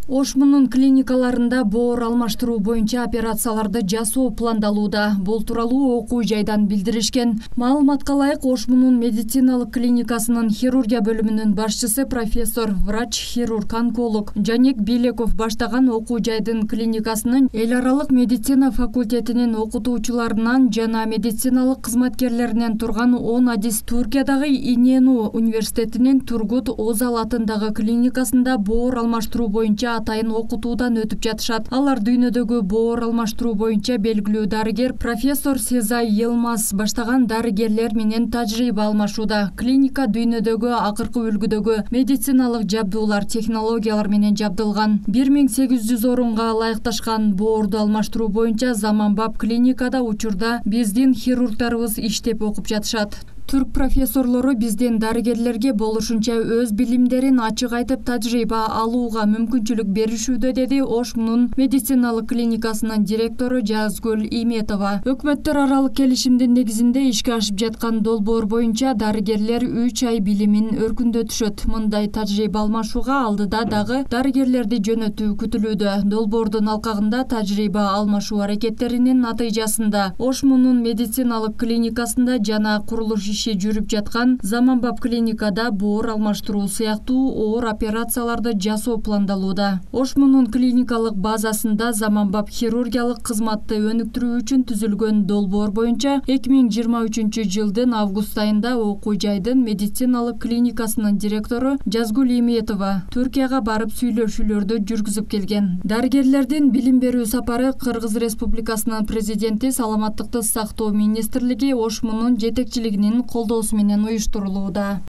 Ошмунун клиникаларында боор алмаштыруу боюнча операцияларды жасоо пландалууда. Бул тууралуу окуу жайдан билдиришкен. Маалыматка ылайык, Ошмунун медициналык клиникасынын хирургия бөлүмүнүн башчысы профессор, врач-хирург-онколог Жанек Белеков баштаган окуу жайдын клиникасынын эл аралык медицина факультетинин окутуучуларынан жана медициналык кызматкерлеринен турган 10 адис Туркиядагы Инену университетинин Тургут Озал атындагы клиникасында боор алмаштыруу боюнча атайын окутуудан өтүп жатышат. Алар дүйнөдөгү боор алмаштыруу боюнча белгилүү дарыгер профессор Сезай Елмаз баштаган дарыгерлер менен тажрыйба алмашууда. Клиника дүйнөдөгү акыркы үлгүдөгү медициналык жабдуулар, технологиялар менен жабдылган. 1800 орунга ылайыкташкан боорду алмаштыруу боюнча заманбап клиникада учурда биздин хирургдарыбыз иштеп окуп жатышат. Түрк профессорлору биздин дарыгерлерге болушунча өз билимдерин ачык айтып тажрыйба алууга мүмкүнчүлүк беришүүдө, деди Ошмунун медициналык клиникасынын директору Жазгүл Иметова. Өкмөттөр аралык келишимдин негизинде ишке ашып жаткан долбоор боюнча дарыгерлер 3 ай билимин өркүндөтүшөт. Мындай тажрыйба алмашууга алдыда дагы дарыгерлерди жөнөтүү күтүлүүдө. Долбоордун алкагында тажрыйба алмашуу аракеттеринин натыйжасында Ошмунун медициналык клиникасында жана курулуш иши жүрүп жаткан заманбап клиникада боор алмаштыруу сыяктуу оор операцияларды жасоо пландалууда. Ошмунун клиникалык базасында заманбап хирургиялык кызматты өнүктүрүү үчүн түзүлгөн долбоор боюнча 2023 жылдын август айында окуу жайдын медициналык клиникасынын директору Жазгүл Иметова Түркияга барып сүйлөшүүлөрдү жүргүзүп келген. Дарыгерлердин билим берүү сапары Кыргыз Республикасынын президенти Саламаттыкты сактоо министрлиги Ошмунун жетекчилигинин колдоосу менен уюштурулууда.